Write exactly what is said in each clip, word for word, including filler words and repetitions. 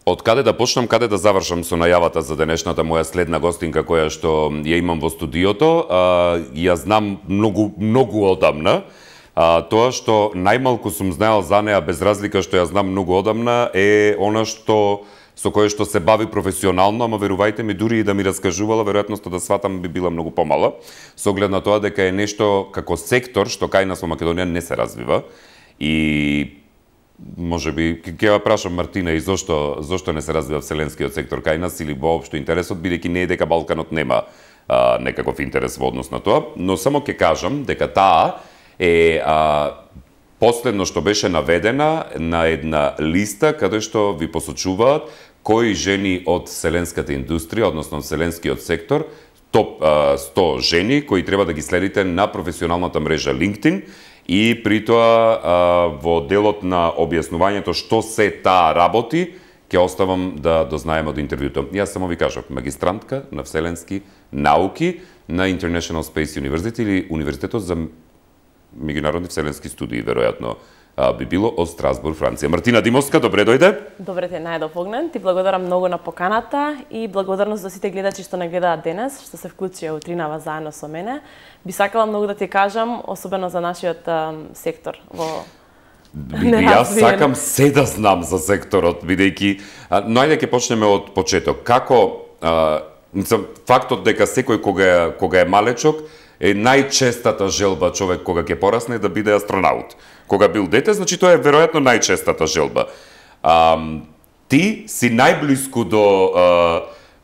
Од каде да почнам, каде да завршам со најавата за денешната моја следна гостинка која што ја имам во студиото, а, ја знам многу многу одамна. А, тоа што најмалку сум знаел за неа без разлика што ја знам многу одамна е она што со кое што се бави професионално, ама верувајте ми, дури и да ми раскажувала, веројатноста да сватам би била многу помала, со оглед на тоа дека е нешто како сектор што кај нас во Македонија не се развива. И може би ќе ја прашам Мартина и зошто зошто не се развива вселенскиот сектор кај нас или воопшто интересот, бидејќи не е дека Балканот нема а, некаков интерес во однос на тоа, но само ќе кажам дека таа е а, последно што беше наведена на една листа каде што ви посочуваат кои жени од вселенската индустрија, односно вселенскиот сектор, топ а, сто жени кои треба да ги следите на професионалната мрежа LinkedIn. И при тоа во делот на објаснувањето што се таа работи, ќе оставам да дознаеме од интервјуто. Јас само ви кажав, магистрантка на вселенски науки на International Space University или Универзитетот за меѓународни вселенски студии, веројатно би било од Страсбург, Франција. Мартина Димовска, добре дојде. Добре те најдов Огнен. Ти благодарам многу на поканата и благодарност за сите гледачи што не гледаат денес, што се вклучија утринава заедно со мене. Би сакала многу да ти кажам, особено за нашиот um, сектор во Јас сакам се да знам за секторот, бидејќи, но ајде ќе почнеме од почеток. Како а, фактот дека секој кога кога е малечок е најчестата желба човек кога ќе порасне да биде астронаут. Кога бил дете, значи тоа е веројатно најчестата желба. А, ти си најблиску до а,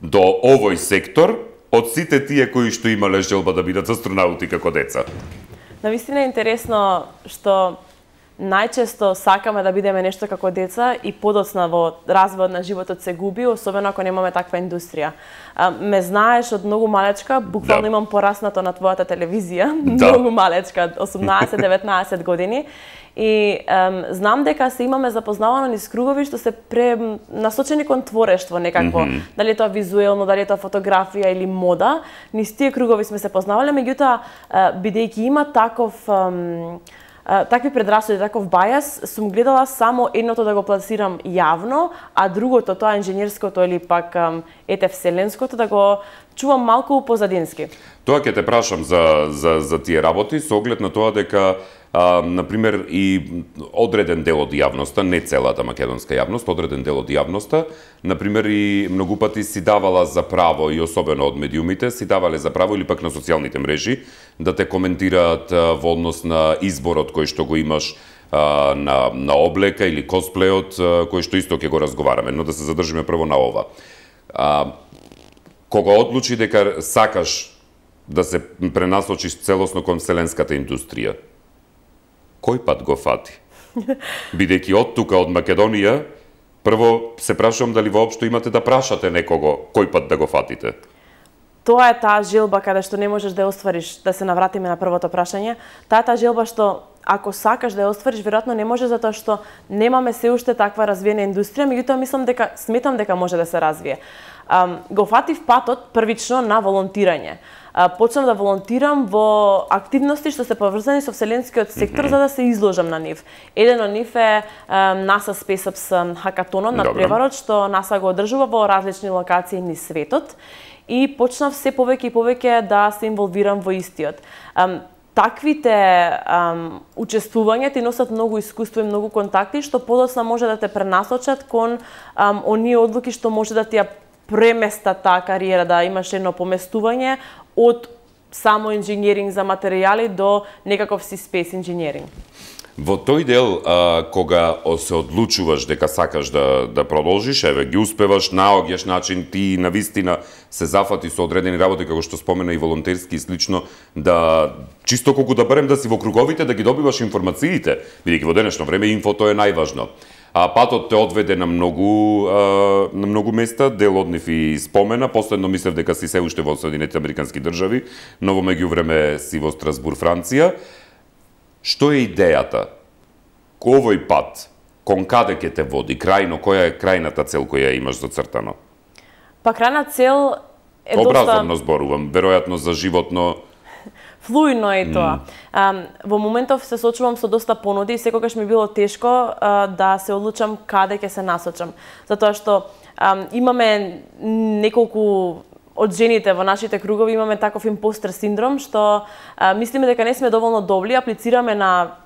до овој сектор од сите тие кои што имале желба да бидат астронаути како деца. Навистина е интересно што најчесто сакаме да бидеме нешто како деца и подоцна во развојот на животот се губи, особено ако немаме таква индустрија. А, ме знаеш од многу малечка, буквално да. Имам пораснато на твојата телевизија, да. Многу малечка, осумнаесет деветнаесет години. И ем, знам дека се имаме запознавано низ кругови што се пре насочени кон творештво некакво, mm -hmm. дали е тоа визуелно, дали е тоа фотографија или мода. Низ тие кругови сме се познавале, меѓутоа бидејќи има таков ем, такви предрасуди, таков бајас, сум гледала само едното да го пласирам јавно, а другото, тоа инженерското или пак ете вселенското, да го чувам малку позадински. Тоа ќе те прашам за, за, за тие работи, со оглед на тоа дека А, например, и одреден дел од јавноста, не целата македонска јавност, одреден дел од јавноста, например, и многу пати си давала за право, и особено од медиумите, си давале за право или пак на социјалните мрежи, да те коментираат а, во однос на изборот кој што го имаш а, на, на облека или косплеот, а, кој што исто ќе го разговараме, но да се задржиме прво на ова. А, кога одлучи дека сакаш да се пренасочиш целосно кон вселенската индустрија, кој пат го фати? Бидејќи од тука, од Македонија, прво се прашувам дали воопшто имате да прашате некого кој пат да го фатите? Тоа е таа желба каде што не можеш да ја оствариш, да се навратиме на првото прашање. Таа е таа желба што ако сакаш да ја оствариш, веројатно не може затоа што немаме се уште таква развиена индустрија, меѓутоа мислам дека сметам дека може да се развие. Um, го фатив патот првично на волонтирање. Почнав да волонтирам во активности што се поврзани со вселенскиот сектор, mm -hmm. за да се изложам на нив. Еден од нив е NASA SpaceX хакатонот на преварот, што NASA го одржува во различни локации низ светот. И почнав се повеќе и повеќе да се инволвирам во истиот. Таквите um, учествувања ти носат многу искуство и многу контакти, што подоцна може да те пренасочат кон um, оние одлуки што може да ти ја преместа таа кариера, да имаш едно поместување од само инженеринг за материјали до некаков си спейс инженеринг. Во тој дел, а, кога се одлучуваш дека сакаш да, да продолжиш, еве, ги успеваш, наоѓаш начин, ти навистина се зафати со одредени работи, како што спомена и волонтерски и слично, да, чисто колку да барем да си во круговите, да ги добиваш информациите, бидејќи во денешно време инфото е најважно. А патот те одведе на многу а, на многу места, дел од нив и спомена, последно мислев дека си се уште во Соединетите Американски држави, но во меѓувреме си во Страсбург, Франција. Што е идејата? Овој пат, кон каде ќе те води? Крајно, која е крајната цел која имаш зацртано? Па крајна цел е Образовно доста... зборувам, веројатно за животно... флуидно е тоа. Mm. Во моментов се соочувам со доста понуди и секогаш ми било тешко а, да се одлучам каде ќе се насочам. Затоа што а, имаме неколку од жените во нашите кругови имаме таков импостер синдром што а, мислиме дека не сме доволно добри, аплицираме на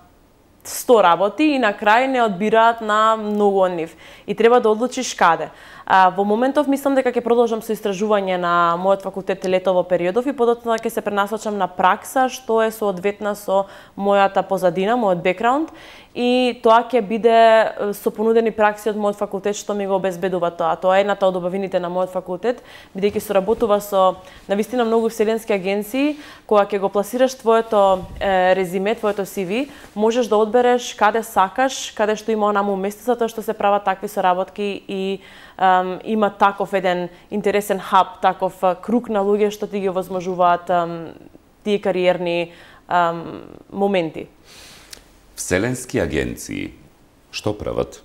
сто работи и на крај не одбираат на многу од нив. И треба да одлучиш каде. А, во моментов мислам дека ќе продолжам со истражување на мојот факултет летово периодов и подоцна ќе се пренасочам на пракса што е соодветна со мојата позадина, мојот бекграунд и тоа ќе биде со понудени пракси од мојот факултет што ми го обезбедува тоа. Тоа е едната од убавините на мојот факултет, бидејќи соработува со навистина многу вселенски агенции, кога ќе го пласираш твоето е, резиме, твоето си ви, можеш да одбереш каде сакаш, каде што има онаму место, затоа што се прават такви соработки и Um, има таков еден интересен хаб, таков uh, круг на луѓе што ти ги овозможуваат um, тие кариерни um, моменти. Вселенски агенции, што прават?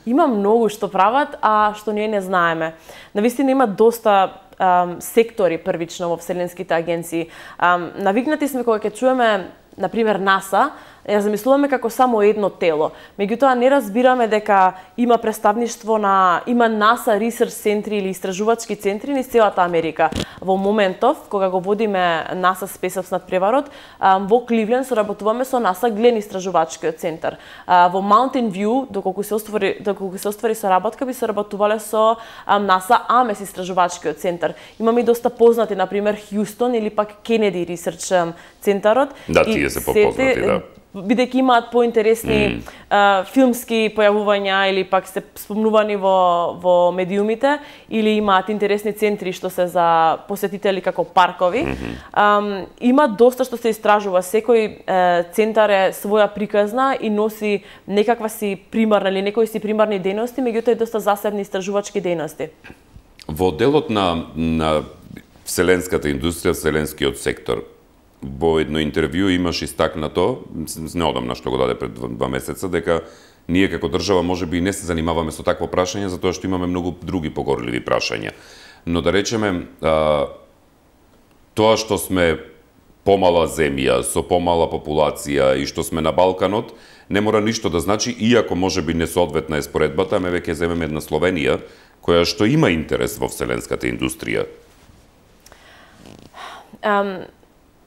Има многу што прават, а што ние не знаеме. Навистина има доста um, сектори првично во вселенските агенции. Um, навикнати сме кога ќе чуеме, например, НАСА, ја замислуваме како само едно тело. Меѓутоа не разбираме дека има представништво на има НАСА Research центри или истражувачки центри низ целата Америка. Во моментов кога го водиме НАСА Space над преварот, во Кливленд соработуваме со НАСА Глен истражувачкиот центар. Во Mountain View, доколку се оствари доколку се оствари соработка, би соработувале со НАСА Амес истражувачкиот центар. Имаме и доста познати, например Хјустон или пак Кенеди Research центарот. Да, тие се попознати, да. Бидејќи имаат поинтересни mm. а, филмски појавувања или пак се спомнувани во, во медиумите или имаат интересни центри што се за посетители како паркови. Mm-hmm. а, има доста што се истражува. Секој е, центар е своја приказна и носи некаква си примарна или некои си примарни дејности, меѓутоа и доста засебни истражувачки дејности. Во делот на, на вселенската индустрија, вселенскиот сектор, во едно интервју имаш истакнато, неодамна што го даде пред два месеца, дека ние како држава можеби и не се занимаваме со такво прашање, затоа што имаме многу други погорливи прашања. Но да речеме, а, тоа што сме помала земја, со помала популација и што сме на Балканот, не мора ништо да значи, иако можеби несоодветна е споредбата, ме веќе земеме една Словенија, која што има интерес во вселенската индустрија. Um...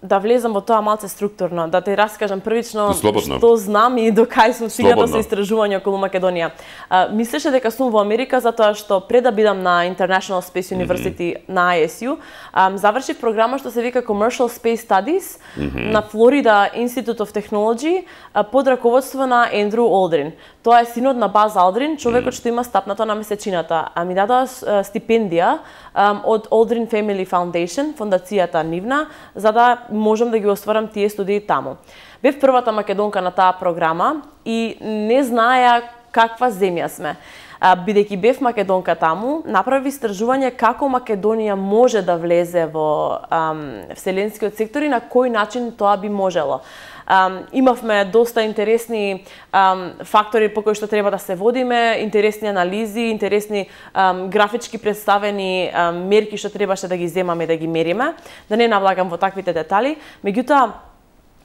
Да влезам во тоа малце структурно, да те раскажам првично Слободно. Што знам и до кај сум стигнала со Слободно. истражување околу Македонија. А, мислеше дека сум во Америка затоа што пред да бидам на International Space University mm-hmm. на I S U, а, завршив програма што се вика Commercial Space Studies mm-hmm. на Florida Institute of Technology а, под раководство на Ендрю Олдрин. Тоа е синот на Баз Алдрин, човекот mm-hmm. што има стапнато на месечината. А ми дадоа стипендија а, од Aldrin Family Foundation, фондацијата нивна, за да можам да ги остварам тие студии таму. Бев првата македонка на таа програма и не знаеа каква земја сме. Бидејќи бев македонка таму, направи истражување како Македонија може да влезе во ам, вселенскиот сектор и на кој начин тоа би можело. Um, имавме доста интересни um, фактори по кои што треба да се водиме, интересни анализи, интересни um, графички представени um, мерки што требаше да ги земаме, да ги мериме. Да не навлагам во таквите детали. Меѓутоа,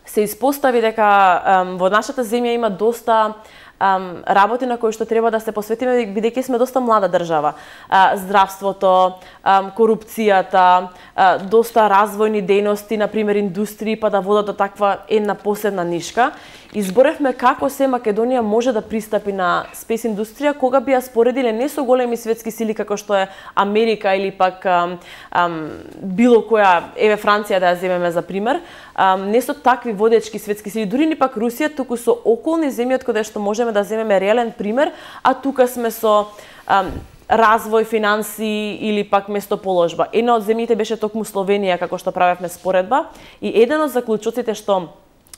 се испостави дека um, во нашата земја има доста Um, работи на кои што треба да се посветиме, бидејќи сме доста млада држава. Uh, здравството, um, корупцијата, uh, доста развојни дејности, например индустрии, па да водат до таква една посебна нишка. Изборевме како се Македонија може да пристапи на спес индустрија кога би ја споредиле не со големи светски сили како што е Америка или пак um, um, било која, еве Франција да ја земеме за пример, um, не со такви водечки светски сили, дури ни пак Русија, туку со околни земји од каде што можеме да земеме реален пример, а тука сме со um, развој, финанси или пак местоположба. Една од земјите беше токму Словенија, како што правевме споредба, и еден од заклучоците што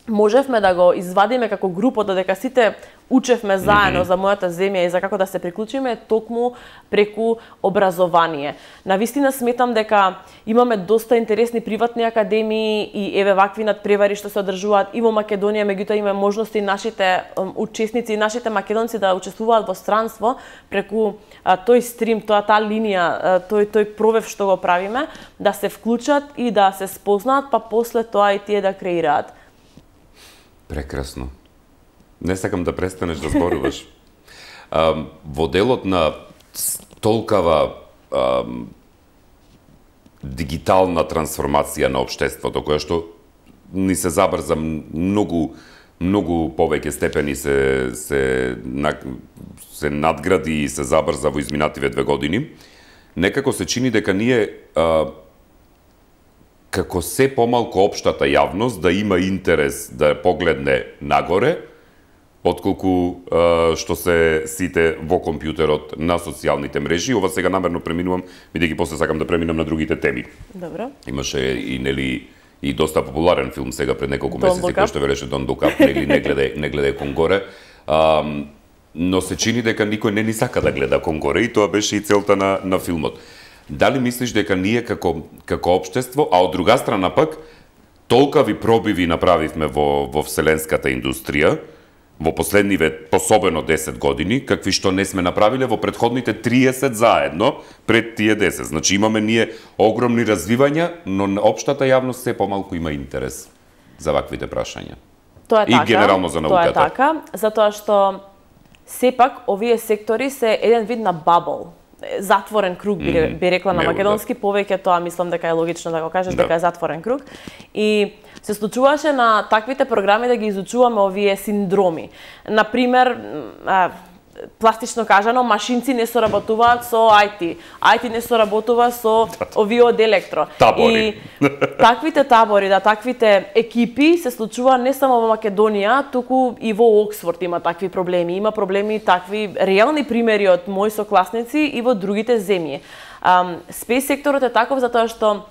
можевме да го извадиме како група, додека сите учевме заедно mm -hmm. за мојата земја и за како да се приклучиме, токму преку образование. Навистина сметам дека имаме доста интересни приватни академии и еве вакви надпревари што се одржуваат и во Македонија, меѓутоа има можности нашите um, учесници и нашите македонци да учествуваат во странство преку а, тој стрим, тоа таа линија, а, тој тој провев што го правиме, да се вклучат и да се спознаат, па после тоа и тие да креираат. Прекрасно. Не сакам да престанеш да зборуваш. А, во делот на толкава а, дигитална трансформација на општеството, која што ни се забрза многу многу повеќе степени се се се надгради и се забрза во изминативе две години, некако се чини дека ние а, како се помалку општата јавност да има интерес да погледне нагоре, отколку а, што се сите во компјутерот на социјалните мрежи. Ова сега намерно преминувам, бидејќи после сакам да преминам на другите теми. Добро. Имаше и нели и доста популарен филм сега пред неколку месеци кој што велеше Don't Look Up, нели не гледај не гледај кон горе. А, но се чини дека никој не ни сака да гледа кон горе и тоа беше и целта на на филмот. Дали мислиш дека ние како како општество, а од друга страна пак толкави пробиви направивме во во вселенската индустрија во последниве пособено десет години, какви што не сме направиле во претходните триесет заедно пред тие десет. Значи имаме ние огромни развивања, но општата јавност се помалку има интерес за ваквите прашања. Тоа е и така. И генерално за науката. Тоа е така, затоа што сепак овие сектори се еден вид на бабл. Затворен круг, би, mm, би рекла на македонски, да. Повеќе тоа мислам дека е логично да го кажеш, да. Дека е затворен круг. И се случуваше на таквите програми да ги изучуваме овие синдроми. Например, пластично кажано, машинци не соработуваат со ај ти, ај ти не соработува со овие од електро. Табори. И таквите табори, да, таквите екипи се случува не само во Македонија, туку и во Оксфорд има такви проблеми. Има проблеми такви реални примери од мои сокласници и во другите земји. Спејс секторот е таков затоа што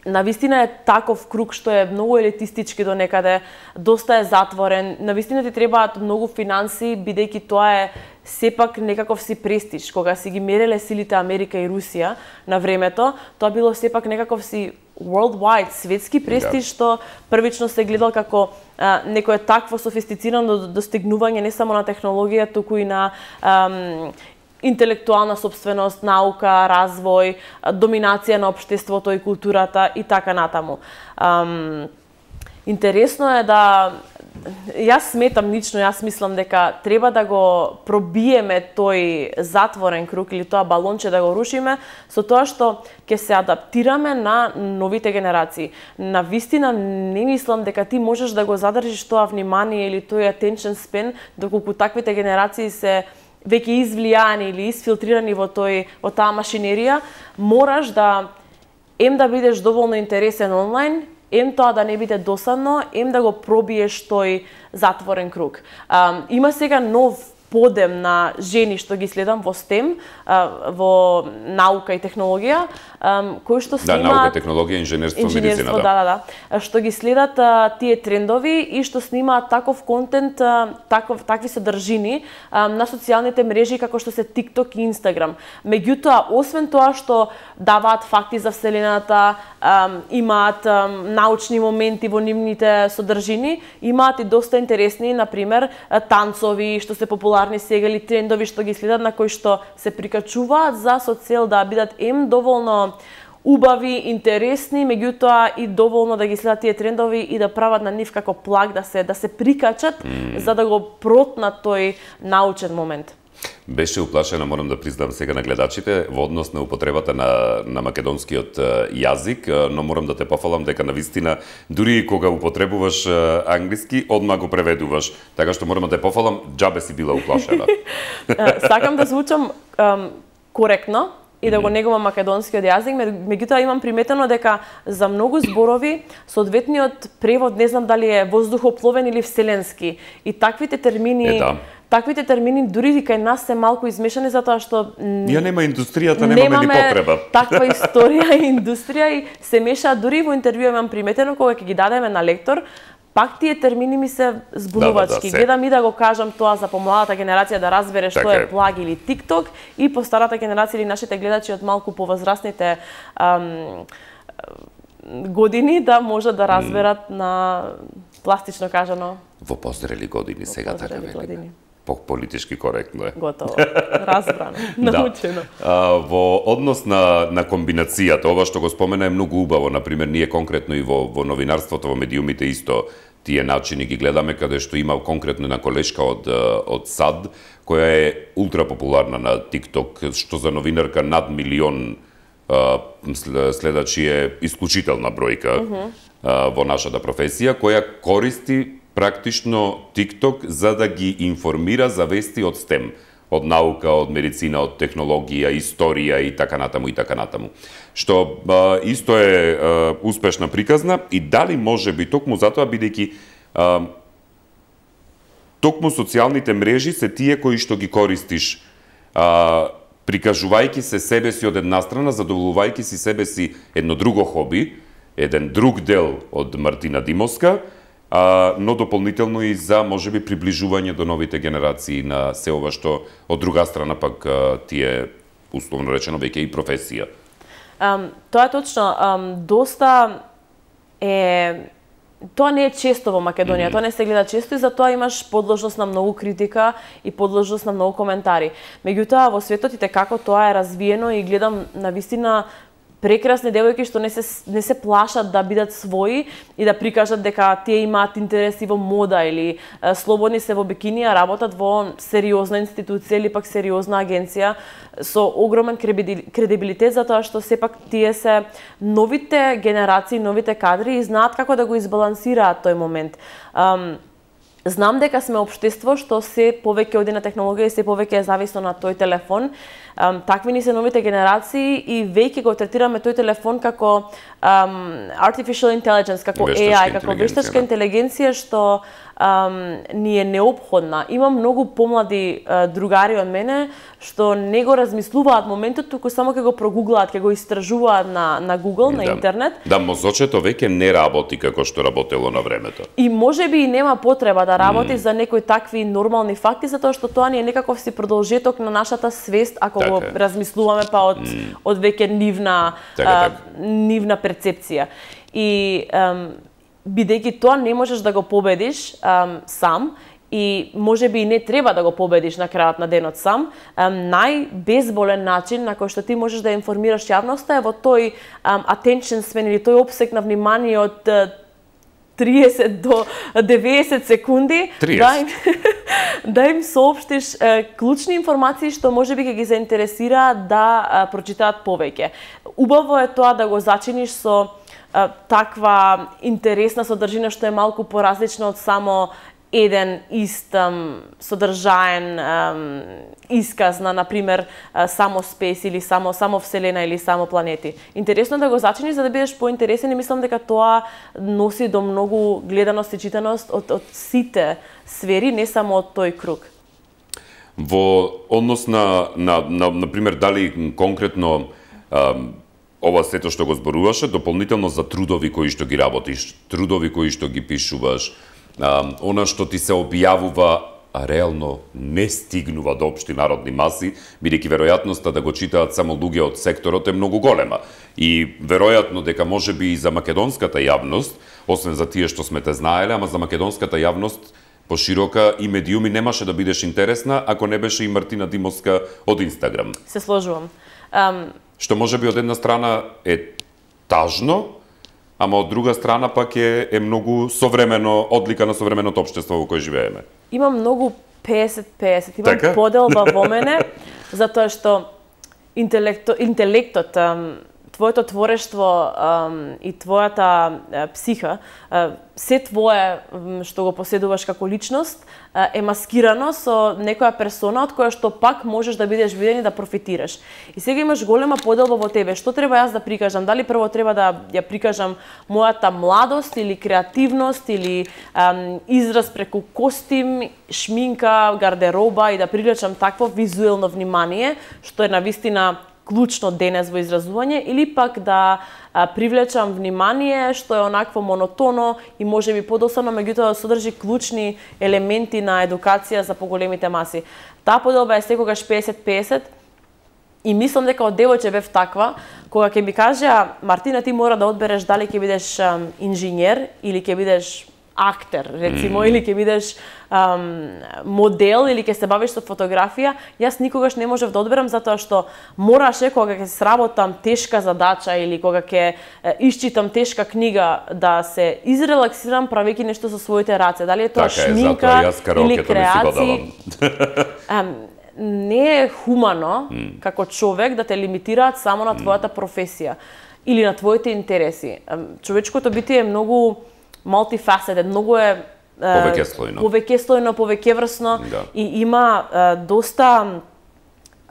навистина е таков круг што е многу елитистички до некаде, доста е затворен. Навистина ти требаат многу финанси, бидејќи тоа е сепак некаков си престиж. Кога си ги мереле силите Америка и Русија на времето, тоа било сепак некаков си worldwide, светски престиж, што првично се гледал како а, некое такво софистицирано достигнување не само на технологија, туку и на ам, интелектуална собственост, наука, развој, доминација на општеството и културата и така натаму. Ам, интересно е да јас сметам лично, јас мислам дека треба да го пробиеме тој затворен круг или тоа балонче да го рушиме со тоа што ќе се адаптираме на новите генерации. На вистина не мислам дека ти можеш да го задржиш тоа внимание или тој attention span доколку таквите генерации се веќе извлијани или изфилтрирани во тој во таа машинерија, мораш да ем да бидеш доволно интересен онлайн, ем тоа да не биде досадно, ем да го пробиеш тој затворен круг. А, има сега нов подем на жени што ги следам во стем, во наука и технологија, кои што снимаат... Да, наука, технологија, инженерство, медицина, да. Да, да, да. Што ги следат тие трендови и што снимаат таков контент, таков, такви содржини на социјалните мрежи како што се TikTok и Instagram. Меѓутоа, освен тоа што даваат факти за Вселената, имаат научни моменти во нивните содржини, имаат и доста интересни, например, танцови што се популарни сега или трендови што ги следат на кои што се прикачуваат за со цел да бидат ем доволно убави, интересни, меѓутоа и доволно да ги следат тие трендови и да прават на нив како плаг да се да се прикачат mm. за да го протнат тој научен момент. Беше уплашена, морам да признам сега на гледачите, во однос на употребата на, на македонскиот јазик, но морам да те пофалам дека на вистина, дури кога употребуваш англиски, одма го преведуваш. Така што морам да те пофалам, џабе си била уплашена. Сакам да звучам um, коректно и да го негувам македонскиот јазик, меѓутоа имам приметено дека за многу зборови соодветниот превод не знам дали е воздухопловен или вселенски. И таквите термини е, да. Таквите термини дури и кај нас се малку измешани затоа што ја нема индустријата, немаме ни потреба. Таква историја и индустрија и се мешаат дури во интервју имам приметено кога ќе ги дадеме на лектор, пак тие термини ми се збунувачки. Да, да, да, Гледам и да го кажам тоа за помладата генерација да разбере што така е плаг или TikTok, и по старата генерација или нашите гледачи од малку повозрастните ам, години да можат да разберат mm. на пластично кажано. Во позрели години сега така велиме. По политички коректно е. Готово. Разбрано. Научено. Да. Во однос на, на комбинацијата, ова што го спомена е многу убаво. Например, ние конкретно и во, во новинарството, во медиумите исто тие начини ги гледаме, каде што има конкретно една колешка од, од САД, која е ултра популарна на TikTok, што за новинарка над милион следачи е исклучителна бројка uh -huh. во нашата професија, која користи практично TikTok за да ги информира за вести од стем, од наука, од медицина, од технологија, историја и така натаму и така натаму. Што а, исто е а, успешна приказна и дали може би токму затоа бидејќи а, токму социјалните мрежи се тие кои што ги користиш а, прикажувајќи се себе си од една страна, задоволувајќи си себе си едно друго хоби, еден друг дел од Мартина Димовска, а, но дополнително и за можеби приближување до новите генерации на се ова што од друга страна пак а, тие условно речено веќе и професија. Um, тоа е точно. Um, доста е Тоа не е често во Македонија, mm-hmm. тоа не се гледа често и затоа имаш подложност на многу критика и подложност на многу коментари. Меѓутоа, во светот и како тоа е развиено и гледам на вистина прекрасни девојки што не се не се плашат да бидат своји и да прикажат дека тие имаат интереси во мода или е, слободни се во бикини, а работат во сериозна институција или пак сериозна агенција со огромен кредибилитет, затоа што сепак тие се новите генерации, новите кадри и знаат како да го избалансираат тој момент. Um, Знам дека сме општество што се повеќе оди на технологија и се повеќе е зависно на тој телефон. Um, такви ни се новите генерации и веќе го третираме тој телефон како um, artificial intelligence, како вештачка A I, како вештачка интелигенција што um, ни е неопходна. Има многу помлади uh, другари од мене што не го размислуваат моментот, туку само ќе го прогуглаат, ќе го истражуваат на, на Google, на да. интернет. Да, мозочето веќе не работи како што работело на времето. И можеби и нема потреба да работи mm. за некои такви нормални факти, затоа што тоа ни е некаков си продолжеток на нашата свест, ако така го размислуваме па од, mm. од веќе нивна, така, а, така. нивна перцепција. И ам, бидејќи тоа не можеш да го победиш ам, сам, и можеби и не треба да го победиш на крајот на денот сам, ам, најбезболен начин на кој што ти можеш да информираш јавноста е во тој ам, attention span или тој опсек на внимание од триесет до деветдесет секунди да им, да им соопштиш е, клучни информации што можеби ќе ги заинтересираат да е, прочитаат повеќе. Убаво е тоа да го зачиниш со е, таква интересна содржина што е малку поразлична од само еден ист um, содржаен um, исказ на, например, uh, само спес или само само вселена или само планети. Интересно да го зачиниш за да бидеш поинтересен и мислам дека тоа носи до многу гледаност и читаност од, од сите сфери, не само од тој круг. Во однос на, на, на, например, дали конкретно um, ова сето што го зборуваше, дополнително за трудови кои што ги работиш, трудови кои што ги пишуваш, Uh, она што ти се објавува, а реално не стигнува до општи народни маси, бидејќи веројатноста да го читаат само луѓе од секторот е многу голема. И веројатно дека можеби и за македонската јавност, освен за тие што сме те знаеле, ама за македонската јавност поширока и медиуми немаше да бидеш интересна ако не беше и Мартина Димовска од Инстаграм. Се сложувам. Um... Што можеби од една страна е тажно, ама од друга страна пак е, е многу современо, одлика на современото општество во кое живееме. Има многу песет песет, имам така? поделба во мене, затоа што интелекто, интелектот, твоето творештво и твојата психа, се твое што го поседуваш како личност, е маскирано со некоја персона од која што пак можеш да бидеш виден и да профитираш. И сега имаш голема поделба во тебе. Што треба јас да прикажам? Дали прво треба да ја прикажам мојата младост или креативност или ам, израз преку костим, шминка, гардероба и да привлечам такво визуелно внимание, што е навистина клучно денес во изразување, или пак да а, привлечам внимание што е онакво монотоно и можеби подосадно, меѓутоа содржи клучни елементи на едукација за поголемите маси. Таа поделба е секогаш песет песет. И мислам дека од девојче бев таква, кога ќе ми кажа Мартина, ти мора да одбереш дали ќе бидеш ам, инженер или ќе бидеш актер, рецимо, mm. или ќе бидеш ам, модел, или ќе се бавиш со фотографија, јас никогаш не можев да одберам, затоа што мораше, кога ќе сработам тешка задача или кога ќе исчитам тешка книга, да се изрелаксирам правејќи нешто со своите раце. Дали е тоа така шминка е, или креација. Не е хумано mm. како човек да те лимитираат само на твојата професија или на твоите интереси. Човечкото битие е многу multifaceted, многу е повеќеслојно, повеќеслојно, повеќеврсно да. И има е, доста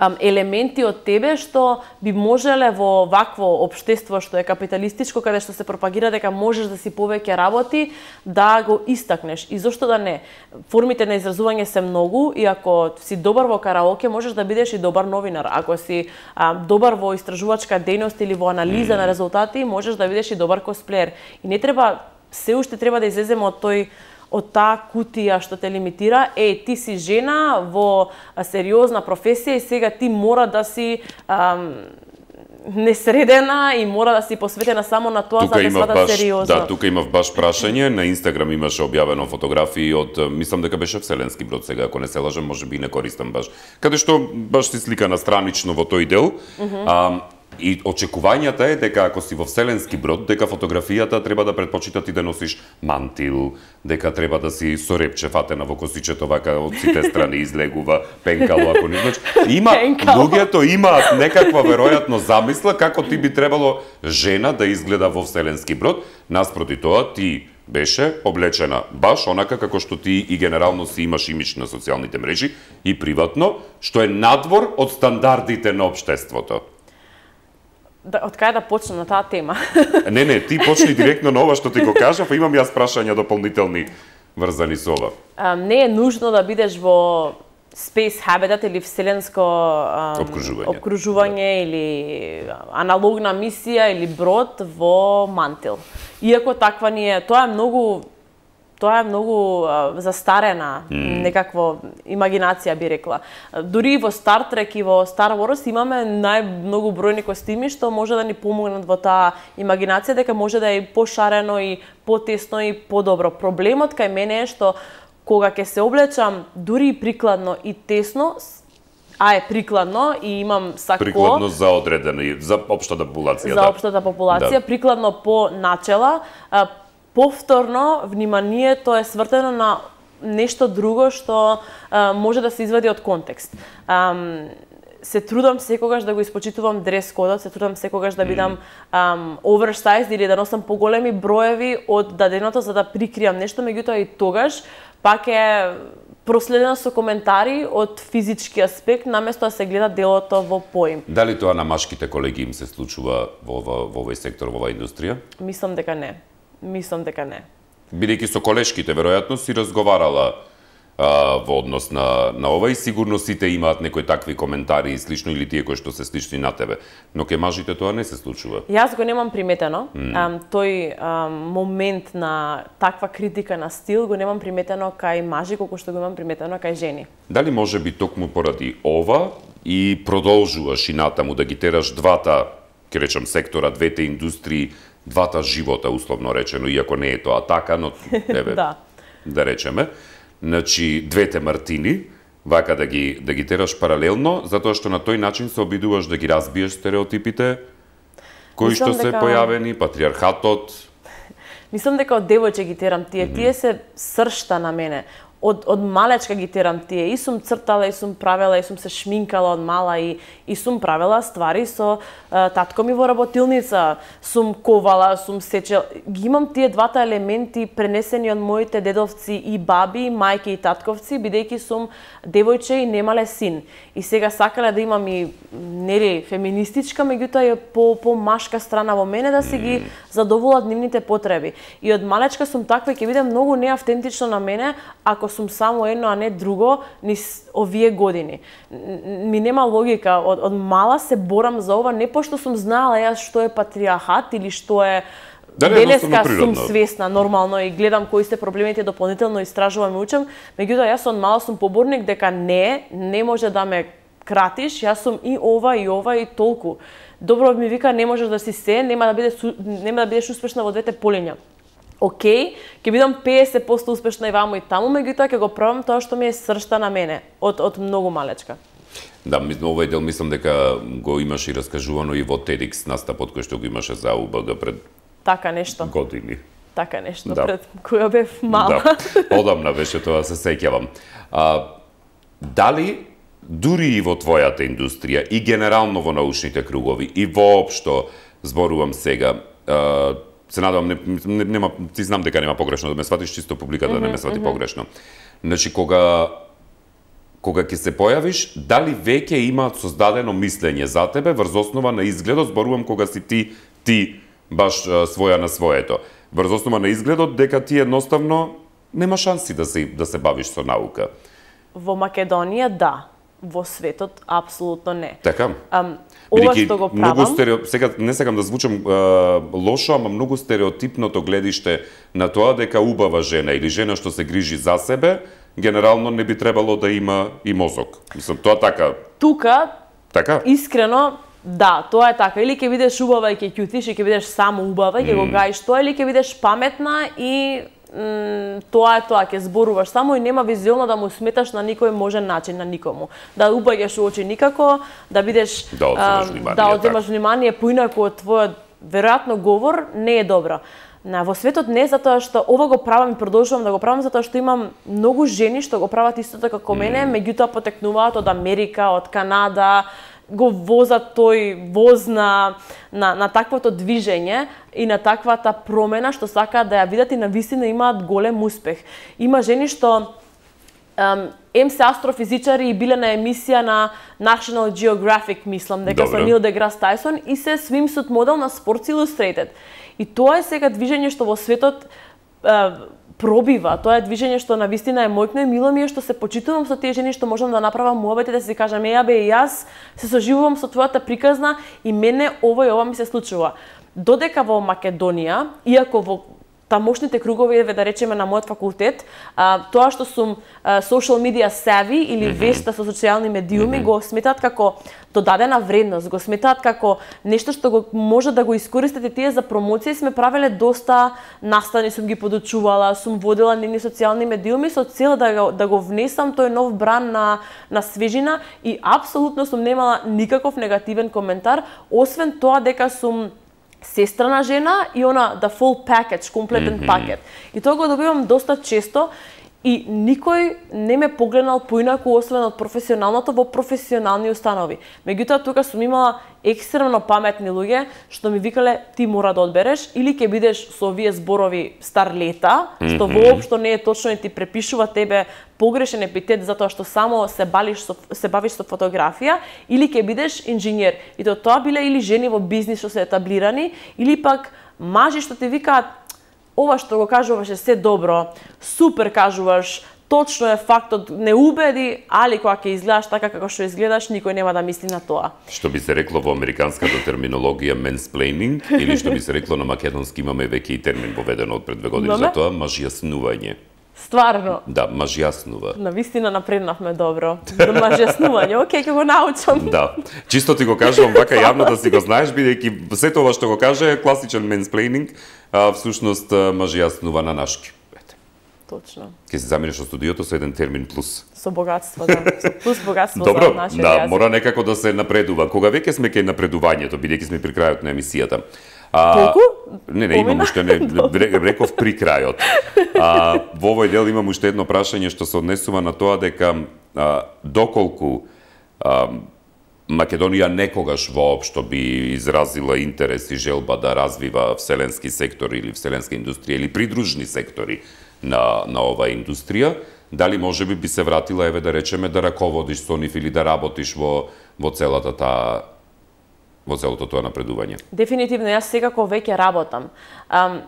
ам, елементи од тебе што би можеле во вакво општество што е капиталистичко, каде што се пропагира дека можеш да си повеќе работи, да го истакнеш. И зошто да не? Формите на изразување се многу и ако си добар во караоке, можеш да бидеш и добар новинар. Ако си а, добар во истражувачка дејност или во анализа mm. на резултати, можеш да бидеш и добар косплеер. И не треба се уште треба да излеземе од тој од таа кутија што те лимитира. Е, ти си жена во сериозна професија и сега ти мора да си ам, несредена и мора да си посветена само на тоа тука за да сватат сериозно. Да, тука имав баш прашање, на Инстаграм имаше објавено фотографии од, мислам дека беше Вселенски брод сега, ако не се лажам, можеби не користам баш. Каде што баш си слика на странично во тој дел. Mm -hmm. а, И очекувањата е дека ако си во Вселенски брод, дека фотографијата треба да предпочита ти да носиш мантил, дека треба да си со репче фатена во косичето, вака од сите страни излегува пенкало, ако не знаеш. Има, луѓето имаат некаква веројатно замисла како ти би требало жена да изгледа во Вселенски брод, наспроти тоа ти беше облечена баш онака како што ти и генерално си имаш имидж на социјалните мрежи и приватно, што е надвор од стандардите на општеството. Да, од кај да почнем на таа тема? Не, не, ти почни директно на ова што ти го кажав, а имам јас прашања дополнителни врзани со ова. А, не е нужно да бидеш во space habitat или вселенско ам, обкружување, обкружување да. Или аналогна мисија или брод во мантил. Иако таква ни е, тоа е многу Тоа е многу а, застарена mm. некакво имагинација, би рекла. Дури во Star Trek и во Star Wars имаме најмногу бројни костими што може да ни помогнат во таа имагинација, дека може да е пошарено и потесно и подобро. Проблемот кај мене е што кога ќе се облечам дури и прикладно и тесно, а е прикладно и имам сако... Прикладно за одредено, за општата популација. За општата популација, да. Прикладно по начела, повторно вниманието е свртено на нешто друго што а, може да се извади од контекст. Ам, се трудам секогаш да го испочитувам дрес кодот, се трудам секогаш да бидам ам, оверсайз или да носам поголеми броеви од даденото за да прикриам нешто, меѓутоа и тогаш пак е проследено со коментари од физички аспект, наместо да се гледа делото во поим. Дали тоа на машките колеги им се случува во, во, во овој сектор, во оваа индустрија? Мислам дека не. Мислам дека не. Бидејќи со колешките, веројатно си разговарала а, во однос на, на ова и сигурно сите имаат некои такви коментари и слично или тие кои што се слични на тебе. Но ке мажите тоа не се случува. Јас го немам приметено. Mm. Ам, тој ам, момент на таква критика на стил го немам приметено кај мажи колку што го имам приметено кај жени. Дали може би токму поради ова и продолжуваш и натаму да ги тераш двата, ќе речам, сектора, двете индустрии, двата живота, условно речено, иако не е тоа така, но еве, да. да речеме, значи двете Мартини, вака да ги да ги тераш паралелно, затоа што на тој начин се обидуваш да ги разбиеш стереотипите кои Мислам што се дека... појавени, патриархатот. Мислам дека од девојче ги терам тие, mm -hmm. тие се сршта на мене. Од, од малечка ги терам тие. И сум цртала, и сум правела, и сум се шминкала од мала, и, и сум правела ствари со а, татко ми во работилница. Сум ковала, сум сечела. Ги имам тие двата елементи пренесени од моите дедовци и баби, мајки и татковци, бидејќи сум девојче и немале син. И сега сакале да имам и нели феминистичка, меѓутоа и по, по машка страна во мене да си ги задоволат нивните потреби. И од малечка сум таква и ќе биде многу неавтентично на мене ако сум само едно, а не друго, низ овие години. Ми нема логика, од, од мала се борам за ова, не пошто сум знаела јас што е патриархат или што е Да, денеска сум свесна нормално и гледам кои се проблемите, дополнително истражувам и учам, меѓутоа јас од мала сум поборник дека не, не може да ме кратиш, јас сум и ова и ова и толку. Добро ми вика, не можеш да си се, нема да бидеш нема да бидеш успешна во двете полиња. Океј, ќе бидам песет проценти успешна и ваму и таму, меѓутоа ќе го пробам тоа што ми е сршта на мене од од многу малечка. Да, овој дел мислам дека го имаш и раскажувано и во TEDx настапот кој што го имаше за У Б Г пред така нешто. Години. Така нешто да. Пред која бев мала. Да, одамна беше тоа, се сеќавам. А, дали дури и во твојата индустрија и генерално во научните кругови и воопшто, зборувам сега, а, се надевам, не, не, нема, ти знам дека нема погрешно да ме сватиш, чисто публиката mm -hmm, да не ме свати mm -hmm. погрешно. Значи, кога кога ќе се појавиш, дали веќе имаат создадено мислење за тебе врз основа на изгледот, зборувам кога си ти ти баш а, своја на своето. Врз основа на изгледот дека ти едноставно нема шанси да се да се бавиш со наука. Во Македонија да, во светот апсолутно не. Така. Um, ова што го правам, многу стерео... сега не сакам да звучам а, лошо, ама многу стереотипното гледиште на тоа дека убава жена или жена што се грижи за себе, генерално не би требало да има и мозок. Мислам, тоа така. Тука, така? Искрено, да, тоа е така. Или ќе бидеш убава и ќе ќутиш и ќе бидеш само убава и ќе mm. го гаиш тоа, или ќе бидеш паметна и м, тоа е тоа, ќе зборуваш само и нема визуелно да му сметаш на никој можен начин на никому. Да убаѓаш у очи никако, да бидеш да одземаш внимание, да одземаш внимание поинаку од твојот веројатно говор не е добро. На во светот не затоа што ова го правам и продолжувам да го правам затоа што имам многу жени што го прават истото како мене, mm. меѓутоа потекнуваат од Америка, од Канада, го возат тој воз на, на, на таквото движење и на таквата промена што сакаат да ја видат и навистина имаат голем успех. Има жени што um, ем се астрофизичари и биле на емисија на National Geographic, мислам, дека со Нил Деграс Тајсон и се swimsuit модел на Sports Illustrated. И тоа е сега движење што во светот е, пробива. Тоа е движење што навистина е мојкно и мило ми е што се почитувам со тие жени што можам да направам муабет и да си кажам, еа бе, јас се соживувам со твојата приказна и мене ова и ова ми се случува. Додека во Македонија, иако во тамошните кругови, да речеме на мојот факултет, а, тоа што сум а, social media savvy или mm -hmm. вешта со социјални медиуми, mm -hmm. го сметаат како додадена вредност, го сметаат како нешто што го може да го искористите тие за промоција. Сме правеле доста настани, сум ги подучувала, сум водела нивни социјални медиуми со цел да го, да го внесам тој нов бран на, на свежина и апсолутно сум немала никаков негативен коментар, освен тоа дека сум сестрана жена и она the full package, комплетен mm -hmm. пакет. И тоа го добивам доста често и никој не ме погледнал поинаку освен од професионалното во професионални установи. Меѓутоа тука сум имала екстремно паметни луѓе што ми викале ти мора да одбереш или ќе бидеш со овие зборови старлета, што mm -hmm. воопшто не е точно и ти препишува тебе погрешен епитет затоа што само се балиш со, се бавиш со фотографија, или ќе бидеш инженер. И то тоа биле или жени во бизнис што се етаблирани, или пак мажи што ти викаат ова што го кажуваш е се добро, супер кажуваш, точно е фактот, не убеди, али кога ќе изгледаш така како што изгледаш, никој нема да мисли на тоа. Што би се рекло во американската терминологија mansplaining, или што би се рекло на македонски, имаме веќе и термин воведен од пред две години за тоа, мажјаснување. Стварно? Да, мажјаснува. Навистина напреднавме добро. До мажјаснување, окей, ќе го научам. Да. Чисто ти го кажувам вака јавно да си го знаеш, бидејќи сето ова што го каже е класичен mansplaining, а всушност мажјаснува на нашки. Точно. Ке се заминеш од студиото со еден термин плюс. Со богатство, да. Со плюс богатство Добро, за нашиот да, јазик. мора некако да се напредува. Кога веќе сме кај напредувањето, бидејќи сме при крајот на емисијата. А, Толку? Не, не, имам уште не, реков при крајот. А, во овој дел имам уште едно прашање што се однесува на тоа дека а, доколку а, Македонија некогаш воопшто би изразила интерес и желба да развива вселенски сектор или вселенска индустрија или придружни сектори на, на оваа индустрија, дали може би би се вратила, еве да речеме, да раководиш со нив или да работиш во, во целата таа во целото тоа напредување? Дефинитивно, јас секако веќе работам. Um,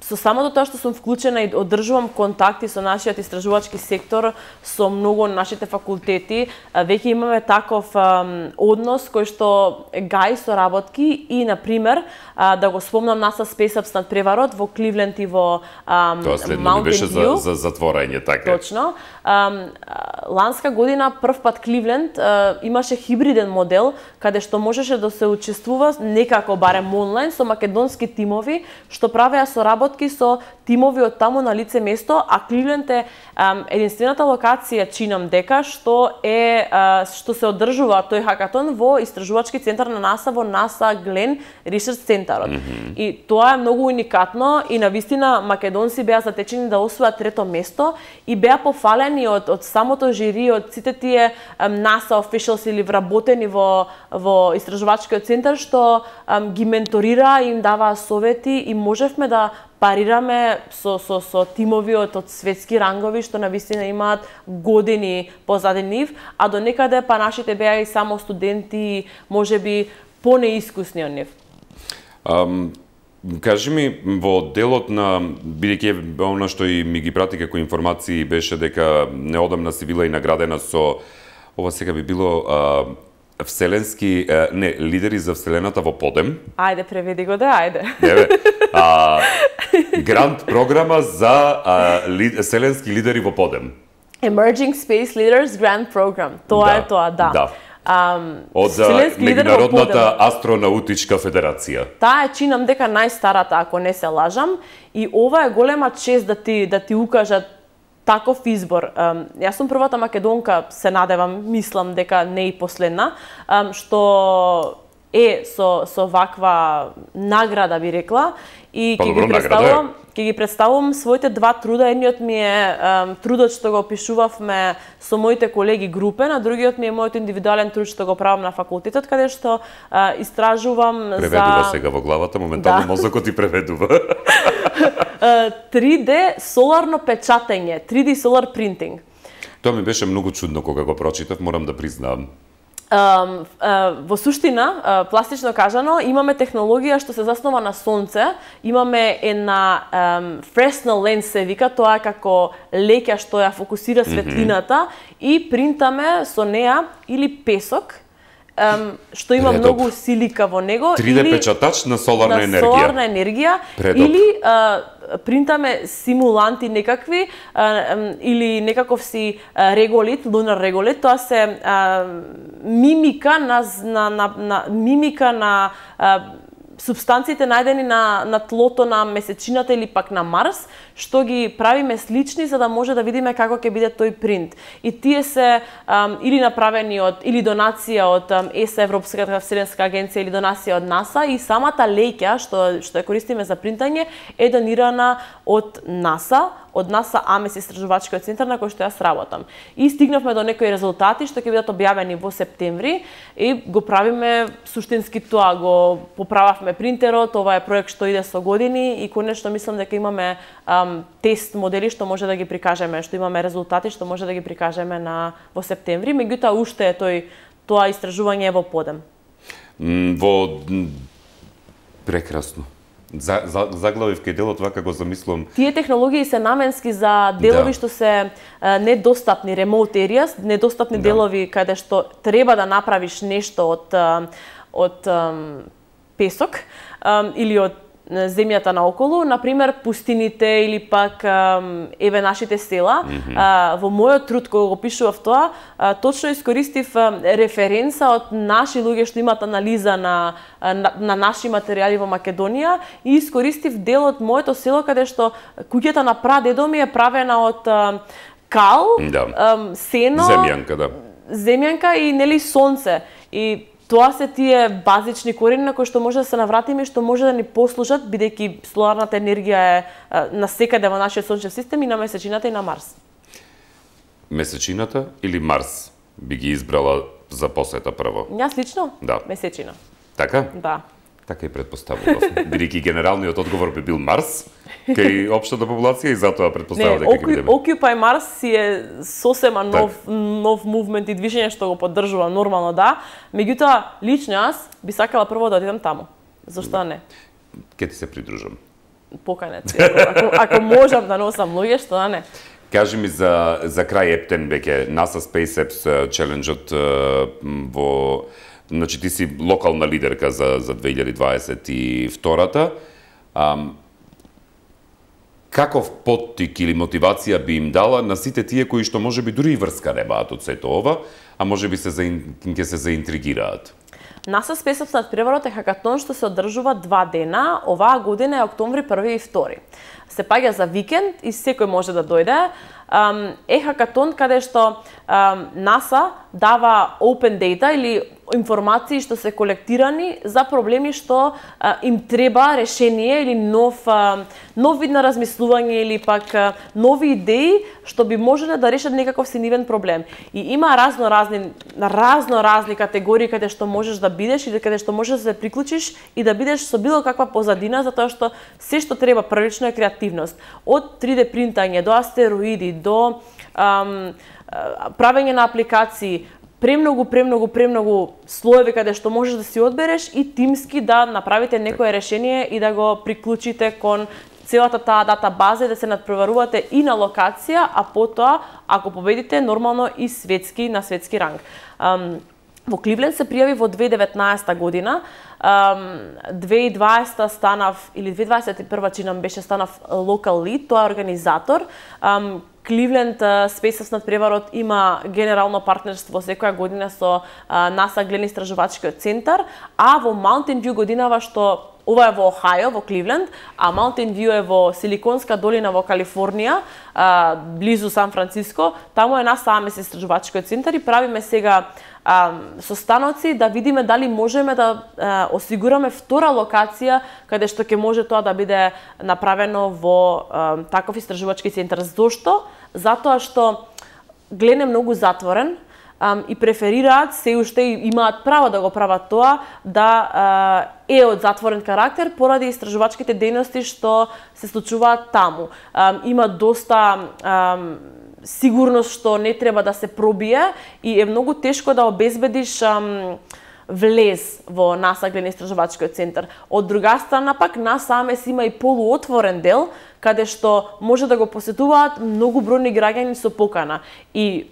со самото тоа што сум вклучена и одржувам контакти со нашиот истражувачки сектор, со многу нашите факултети, веќе имаме таков um, однос кој што гаи соработки и, на пример, uh, да го спомнам NASA Space Ups над преварот во Кливленд и во um, Тоа следно ми беше за, за затворање, така. Точно. Um, ланска година прв пат Кливленд uh, имаше хибриден модел каде што можеше да се учествува некако барем онлайн со македонски тимови што правеа соработки со тимови од таму на лице место, а Кливленд е um, единствената локација, чинам дека, што е uh, што се одржува тој хакатон во истражувачки центар на NASA во NASA Glen Research Центарот. Mm -hmm. И тоа е многу уникатно и навистина македонци беа затечени да освојат трето место и беа пофалени од од самото жири, од сите тие um, NASA officials или вработени во во истражувачкиот центар што um, ги менторира, им даваа совети и можевме да парираме со, со, со тимови од, од светски рангови што навистина имаат години позади нив, а до некаде па нашите беа и само студенти, можеби понеискусни од нив. Um... Кажи ми, во делот на, бидејќи она што и ми ги прати како информации беше дека неодамна си била и наградена со, ова сега би било а, вселенски, а, не, лидери за вселената во подем. Ајде, преведи го да, ајде. Еве, а, грант програма за а, ли, вселенски лидери во подем. Emerging Space Leaders Grant Program. Тоа да, е тоа, да. Да. Um, од Меѓународната астронаутичка федерација. Таа е, чинам дека, најстарата, ако не се лажам, и ова е голема чест да ти да ти укажат таков избор. Um, јас сум првата македонка, се надевам, мислам дека не и последна, um, што е со со ваква награда, би рекла, и ќе ги представувам ќе ги представувам своите два труда. Едниот ми е um, трудот што го опишувавме со моите колеги групен, а другиот ми е мојот индивидуален труд што го правам на факултетот, каде што uh, истражувам преведува за... Преведува сега во главата, моментално да. Мозокот ти преведува. три Д соларно печатење, три Д solar printing. Тоа ми беше многу чудно кога го прочитав, морам да признаам. Uh, uh, во суштина, uh, пластично кажано, имаме технологија што се заснова на сонце, имаме една um, Fresnel lens се вика, тоа е како леќа што ја фокусира светлината, mm-hmm. и принтаме со неа или песок, um, што има Предоп. многу силика во него, три Д или печатач на соларна на енергија. соларна енергија, Предоп. или uh, принтаме симуланти некакви, а, или некаков си а, реголит, лунар реголит, тоа се а, мимика на, на, на, на мимика на а, субстанциите најдени на, на тлото на месечината или пак на Марс, што ги правиме слични за да може да видиме како ќе биде тој принт. И тие се um, или направени од или донација од um, Е С А, Европската вселенска агенција, или донација од NASA, и самата леќа што што ја користиме за принтање е донирана од NASA, од NASA Амес истражувачкиот центар на кој што јас работам. И стигнавме до некои резултати што ќе бидат објавени во септември и го правиме суштински тоа, го поправавме принтерот, ова е проект што иде со години и конечно мислам дека имаме ам, тест модели што може да ги прикажеме, што имаме резултати што може да ги прикажеме на во септември, меѓутоа уште е тој тоа истражување во подем. Во прекрасно. За, за, заглавив кај делот вака го замислам. Тие технологии се наменски за делови да. што се а, недостапни, remote areas, недостапни да. делови каде што треба да направиш нешто од од ам, песок ам, или од земјата наоколу, например пустините или пак ам, еве нашите села. Mm-hmm. а, во мојот труд кога го пишував тоа, а, точно искористив а, референца од наши луѓе што имаат анализа на, на на наши материјали во Македонија и искористив дел од моето село каде што куќата на прадедо ми е правена од а, кал, да. а, сено, земјанка, да. Земјанка и нели сонце. И тоа се тие базични корени на кои што може да се навратиме и што може да ни послужат, бидејќи соларната енергија е насекаде во нашиот сончев систем и на месечината и на Марс. Месечината или Марс би ги избрала за посета прво? Јас лично? Да. Месечина. Така? Да. Така и предпоставував. Бидејќи генералниот одговор би бил Марс кај општата популација и затоа предпоставував дека ќе бидеме. Occupy Mars си е сосема нов так. нов мувмент и движење што го поддржувам нормално, да. Меѓутоа лично јас би сакала прво да одидам таму. Зошто да. не? Ке ти се придружам. поканете. Ако, ако можам да носам луѓе, што да не. Кажи ми за, за крај ептен веќе NASA SpaceX Challenge-от во... Значи ти си локална лидерка за, за две илјади дваесет и втора. Um, каков поттик или мотивација би им дала на сите тие кои што можеби дури и врска немаат од сето ова, а можеби се ќе се заинтригираат? NASA SpaceX надпреварот е хакатон што се одржува два дена, оваа година е октомври први и втори. Се паѓа за викенд и секој може да дојде. Е хакатон каде што NASA дава open data или информации што се колектирани за проблеми што а, им треба решение или нов а, нов вид на размислување или пак а, нови идеи што би можеле да решат некаков си нивен проблем. И има разно разни разно разни категории каде што можеш да бидеш или каде што можеш да се приклучиш и да бидеш со било каква позадина, затоа што се што треба првично е креативност. Од три де принтање до астероиди до ам, правење на апликации, премногу, премногу, премногу слоеви каде што можеш да си одбереш и тимски да направите некое решение и да го приклучите кон целата таа дата база и да се надпреварувате и на локација, а потоа, ако победите, нормално и светски, на светски ранг. Um, во Кливленд се пријави во две илјади и деветнаесета година, um, две илјади и дваесета станав, или две илјади дваесет и прва чинам беше станав локал лид, тоа е организатор. Um, Кливленд SpaceX надпреварот има генерално партнерство секоја година со NASA Глен истражувачкиот центар, а во Mountain View годинава што ова е во Охајо, во Кливленд, а Mountain View е во Силиконска долина во Калифорнија, близу Сан Франциско, таму е NASA Амес истражувачкиот центар и правиме сега состаноци да видиме дали можеме да а, осигураме втора локација каде што ќе може тоа да биде направено во а, таков истражувачки центар. Зошто? Затоа што Глен е многу затворен а, и преферираат, се уште имаат право да го прават тоа, да а, е од затворен карактер поради истражувачките дејности што се случуваат таму. А, има доста а, сигурност што не треба да се пробие и е многу тешко да обезбедиш ам, влез во NASA Глен истражувачкиот центар. Од друга страна пак NASA Амес има и полуотворен дел каде што може да го посетуваат многу бројни граѓани со покана. И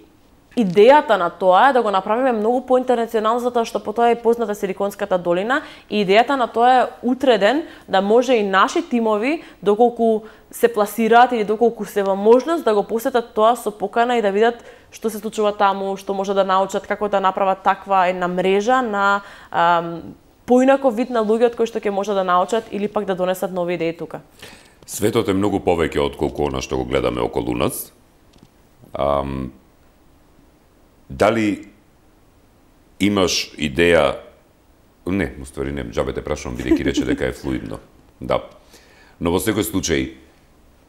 идејата на тоа е да го направиме многу поинтернационално, затоа што потоа е позната Силиконската долина и идејата на тоа е утре ден да може и наши тимови, доколку се пласираат или доколку се во можност да го посетат тоа со покана и да видат што се случува таму, што може да научат, како да направат таква една мрежа на ам, поинаков вид на луѓе од кои што ќе може да научат или пак да донесат нови идеи тука. Светот е многу повеќе од колку она што го гледаме околу нас. Ам, Дали имаш идеја, не, уствари не, џабе те прашувам, бидејќи рече дека е флуидно. Да. Но во секој случај,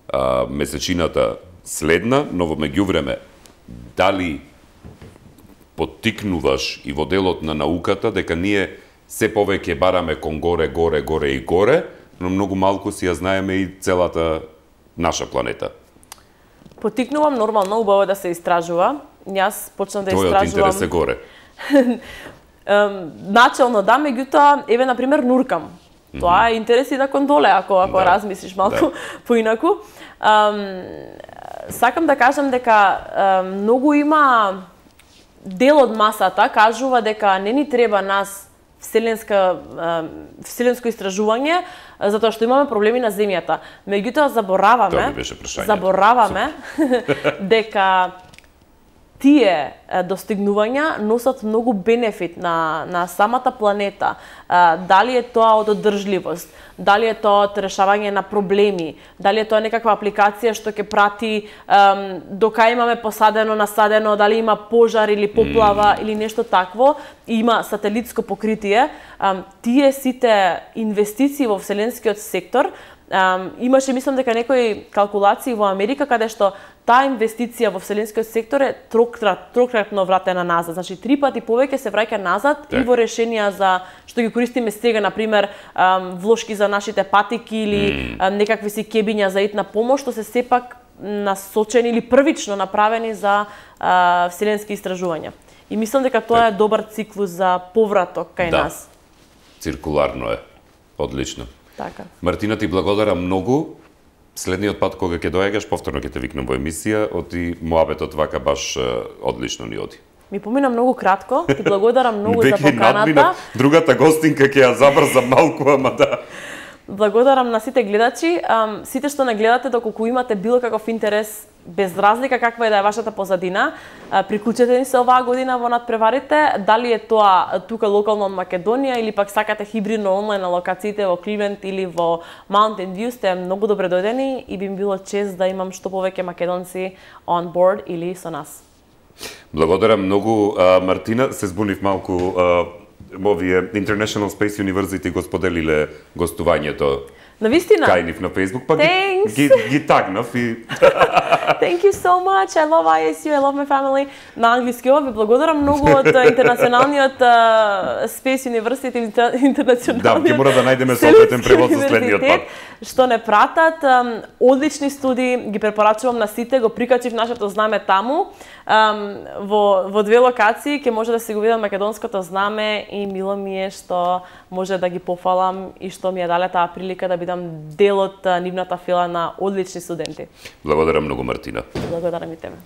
а, месечината следна, но во меѓувреме, дали поттикнуваш и во делот на науката дека ние се повеќе бараме кон горе, горе, горе и горе, но многу малку си ја знаеме и целата наша планета? Поттикнувам, нормално, убаво да се истражува. Јас почнав да истражувам. Твојот интерес е горе. Начално да, меѓутоа, еве на пример нуркам. Тоа е интерес и да кон доле, ако ако да. размислиш малку да. поинаку. Um, сакам да кажам дека um, многу има дел од масата кажува дека не ни треба нас вселенска uh, вселенско истражување затоа што имаме проблеми на земјата. Меѓутоа забораваме забораваме дека тие достигнувања носат многу бенефит на, на самата планета. Дали е тоа од одржливост, дали е тоа од решавање на проблеми, дали е тоа некаква апликација што ќе прати um, дока имаме посадено, насадено, дали има пожар или поплава mm. или нешто такво, има сателитско покритие. Um, тие сите инвестиции во вселенскиот сектор, Um, имаше, мислам дека некои калкулации во Америка каде што таа инвестиција во вселенскиот сектор е трократ, трократно вратена назад. Значи три пати повеќе се враќа назад так. И во решенија за што ги користиме сега, на пример, um, влошки за нашите патики или mm. um, некакви си кебиња за итна помош, што се сепак насочени или првично направени за uh, вселенски истражувања. И мислам дека тоа е добар циклус за повраток кај да. нас. Циркуларно е. Одлично. Така. Мартина, ти благодарам многу. Следниот пат кога ќе доаѓаш, повторно ќе те викнам во емисија, оти моабетот вака баш одлично ни оди. Ми помина многу кратко, ти благодарам многу за поканата. Другата гостинка ќе ја забрзам малку, ама да. Благодарам на сите гледачи, сите што не гледате, доколку имате било каков интерес, без разлика каква е да е вашата позадина, приклучете ни се оваа година во Надпреварите, дали е тоа тука локално од Македонија или пак сакате хибридно онлайн на локациите во Кливленд или во Mountain View, сте многу добре дојдени и би ми било чест да имам што повеќе македонци on board или со нас. Благодарам многу, Мартина, се збунив малку. Овие International Space University го споделиле гостувањето. Навистина? Кај нив на Facebook, па ги, ги, ги тагнав и... Thank you so much, I love I S U, I love my family. На англиски ова ви благодарам многу од интернационалниот uh, Space University, интернационалниот... Да, ќе мора да најдеме соодветен превод за следниот пат. Што не пратат, um, одлични студии, ги препорачувам на сите, го прикачив нашето знаме таму. Um, во, во две локации ќе може да се го видам македонското знаме и мило ми е што може да ги пофалам и што ми ја дале таа прилика да бидам дел од нивната фила на одлични студенти. Благодарам многу, Мартина. Благодарам и тебе.